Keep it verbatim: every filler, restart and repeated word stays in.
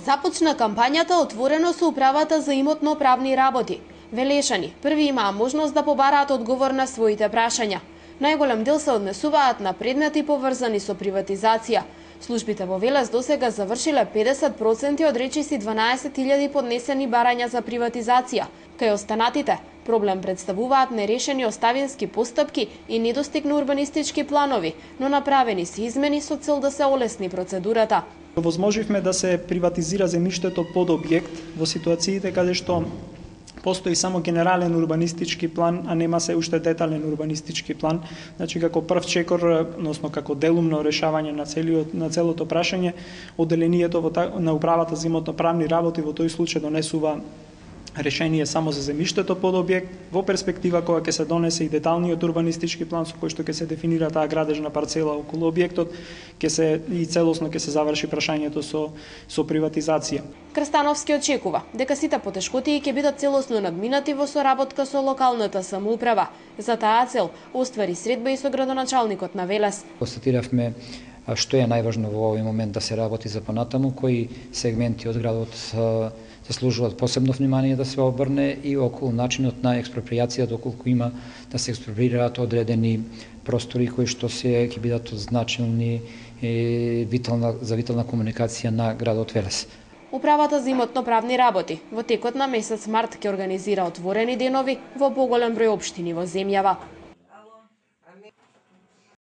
Започна кампањата отворено со управата за имотно-правни работи. Велешани први имаа можност да побараат одговор на своите прашања. Најголем дел се однесуваат на предмети поврзани со приватизација. Службите во Велес досега завршиле педесет проценти од речиси дванаесет илјади поднесени барања за приватизација. Кај останатите проблем представуваат нерешени оставински постапки и недостиг на урбанистички планови, но направени се измени со цел да се олесни процедурата. Возможивме да се приватизира земјиштето под објект во ситуациите каде што постои само генерален урбанистички план, а нема се уште детален урбанистички план. Значи, како прв чекор, односно како делумно решавање на целиот на целото прашање, одделението во на управата за имотно-правни работи во тој случај донесува решение само за земјиштето под објект, во перспектива кога ќе се донесе и деталниот урбанистички план со кој што ќе се дефинира таа градежна парцела околу објектот, ќе се и целосно ќе се заврши прашањето со со приватизација. Крстановски очекува дека сите потешкотии ќе бидат целосно надминати во соработка со локалната самоуправа. За таа цел оствари средба и со градоначалникот на Велес. Констатиравме што е најважно во овој момент да се работи за понатаму, кои сегменти од градот заслужуваат посебно внимание да се обрне и околу начинот на експроприација, доколку има да се експроприираат одредени простори кои што се ќе бидат од значилни витална за витална комуникација на градот Велес. Управата за имотно-правни работи во текот на месец март ќе организира отворени денови во поголем број општини во земјава.